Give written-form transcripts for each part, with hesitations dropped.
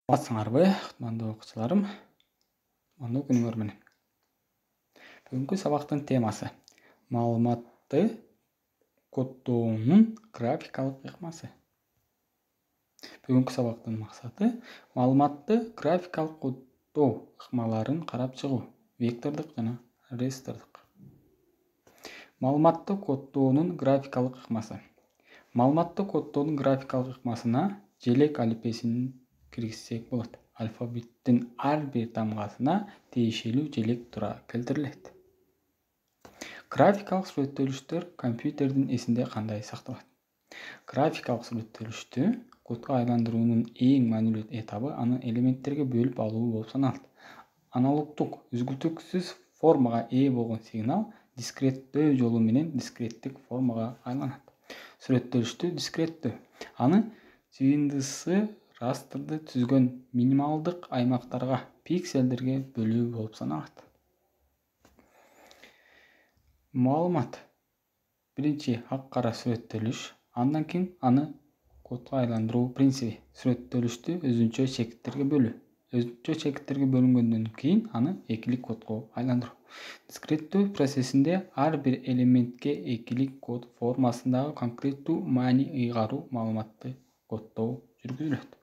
Саламатсыңарбы, кутмандуу окуучуларым? Кутмандуу күнүңөр менен. Бүгүнкү сабактын темасы маалыматты коддоонун графикалык ыкмасы. Бүгүнкү сабактын максаты маалыматты графикалык коддоо ыкмаларын карап чыгуу, вектордук жана растрлык. Маалыматты коддоонун графикалык ыкмасы. Маалыматты коддоонун графикалык ыкмасына желек алифбесин киргизсек болот. Алфавиттин ар бир тамгасына тиешелүү желек тура келтирилет. Графикалык сүрөттөлүштөр компьютердин эсинде кандай сакталат? Графикалык сүрөттөлүштү кодго айландыруунун эң маанилүү этабы аны элементтерге бөлүп алуу болуп саналат. Аналогдук, үзгүлтүксүз формага ээ болгон сигнал дискреттөө жолу менен дискреттик формага айланат. Сүрөттөлүштү дискреттүү аны жыйындысы растрды түзгөн минималдык аймактарга, пикселдерге бөлүү болуп саналат. Маалымат. Биринчи ак-кара сүрөттөлүш, андан кийин аны кодго айландыруу принциби. Сүрөттөлүштү өзүнчө чекиттерге бөлүү. Өзүнчө чекиттерге бөлүнгөндөн кийин аны экилик кодго айландыруу. Дискреттөө процессинде ар бир элементке экилик код формасындагы конкреттүү маани ыйгаруу маалыматты коддоо жүргүзүлөт.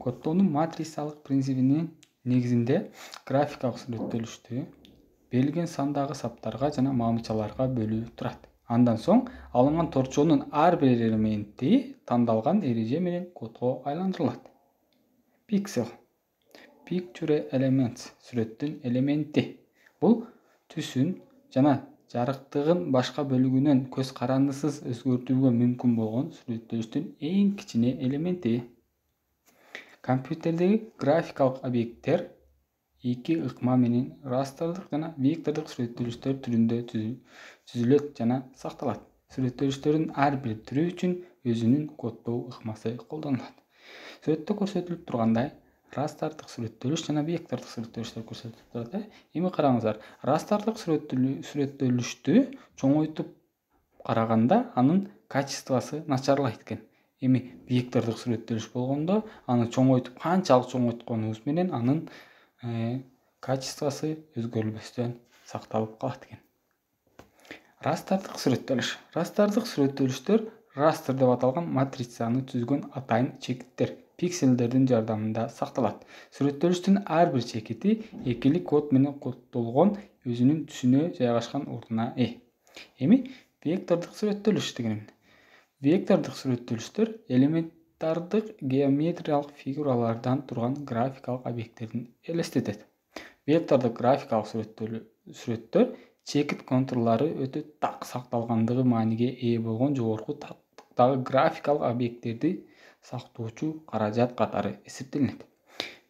Коддоонун матрицалык принцибинин негизинде графикалык сүрөттөлүштү берилген сандагы саптарга жана маамчаларга бөлүү турат. Андан соң алынган торчоонун ар бир элементи тандалган эреже менен кодго айландырылат. Пиксел. Picture elements сүрөттүн элементи. Бул түсүн жана жарыктыгын башка бөлүгүнөн көз карандысыз өзгөртүүгө мүмкүн болгон сүрөттөлүштүн эң кичине элементи. Компьютердеги графикалык объекттер эки ыкма менен растрлык жана вектордук сүрөттөлүштөр түрүндө түзүлөт жана сакталат. Сүрөттөлүштөрдүн ар бир түрү үчүн өзүнүн коддоо ыкмасы колдонулат. Сүрөттө көрсөтүлүп тургандай, растрлык сүрөттөлүш жана вектордук сүрөттөлүштөр көрсөтүлүп турат. Эми караңыздар, растрлык сүрөттөлүштү чоңойтуп караганда анын качествосу начарлайт экен. Эми вектордук сүрөттөлүш болгондо аны чоңойтуп канчалык чоңойтконубуз менен анын качествосу өзгөрүлбөстөн сакталып калат экен. Растрлык сүрөттөлүш. Растрлык сүрөттөлүштөр растр деп аталган матрицаны түзгөн атайын чекиттер, пикселдердин жардамында сакталат. Сүрөттөлүштүн ар бир чекити экилик код менен коддолгон өзүнүн түсүнө жайгашкан ордуна ээ. Эми вектордук сүрөттөлүш деген. Вектордук сүрөттөлүштөр элементардык геометриялык фигуралардан турган графикалык объекттерин элестетет. Вектордук графикалык сүрөттөр чекит контурлары өтө так сакталгандыгы мааниге ээ болгон жогорку тактыктагы графикалык объекттерди сактоочу каражат катары эсептелинет.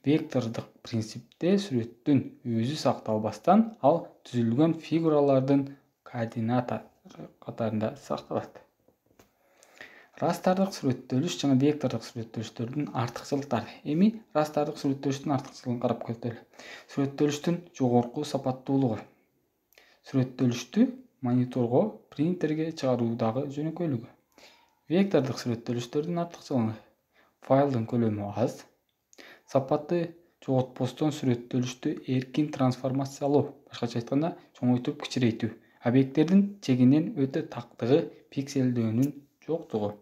Вектордук принципте сүрөттүн өзү сакталбастан ал түзүлгөн фигуралардын координаталары катарында сакталат. Растрлык сүрөттөлүш жана вектордук сүрөттөлүштөрдүн артыкчылыктары. Эми растрлык сүрөттөлүштүн артыкчылыгын карап көрөлү. Сүрөттөлүштүн жогорку сапаттуулугу. Сүрөттөлүштү мониторго, принтерге чыгаруудагы жөнөкөйлүгү. Вектордук сүрөттөлүштөрдүн артыкчылыгы. Файлдын көлөмү аз. Сапаты жоготпостон сүрөттөлүштү эркин трансформациялоо, башкача айтканда чоңойтуп кичирейтүү. Объекттердин чегинен өтө тактыгы, пикселдөөнүн жоктугу.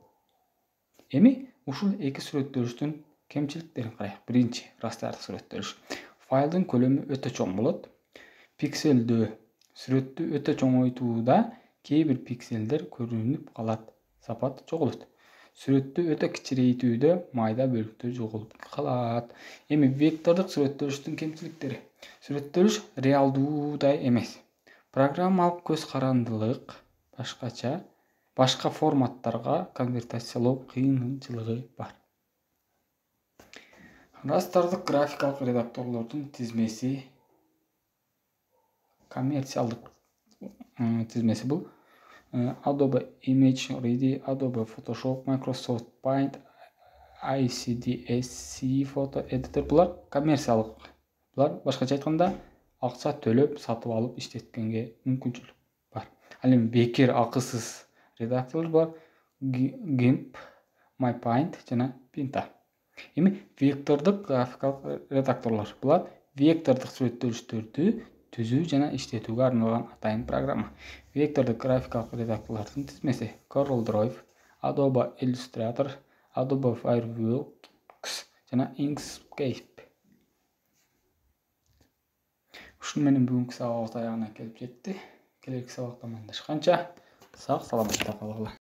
Эми ушул эки сүрөттөлүштүн кемчиликтерин карайлы. Биринчи растрлык сүрөттөлүш. Файлдын көлөмү өтө чоң болот. Пикселдөө. Сүрөттү өтө чоңойтууда кээ бир пикселдер көрүнүп калат, сапат жоголот. Сүрөттү өтө кичирейтүүдө майда бөлүктөр жоголуп калат. Эми вектордук сүрөттөлүштүн кемчиликтери. Сүрөттөлүш реалдуудай эмес. Программалык көз карандылык башка форматтарга конвертациялоо кыйынчылыгы бар. Растрлык графикалык редакторлордун тизмеси. Коммерциялык тизмеси бул Adobe ImageReady, Adobe Photoshop, Microsoft Paint, ICDSC Photo Editor булар коммерциялык. Булар башкача айтканда акча төлөп сатып алып иштеткенге мүмкүнчүлүк бар. Ал эми бекер акысыз редакторлор бар. GIMP, MyPaint жана Pinta. Эми вектордук графикалык редакторлор. Булар вектордук сүрөттөлүштөрдү түзүү жана иштетүүгө арналган атайын программа. Вектордук графикалык редакторлордун тизмеси: CorelDRAW, Adobe Illustrator, Adobe Fireworks жана Inkscape. Ушуну менен бүгүнкү сабагыбыз аягына келип жетти. Келерки сабакта амандашканча сак саламатта калгыла.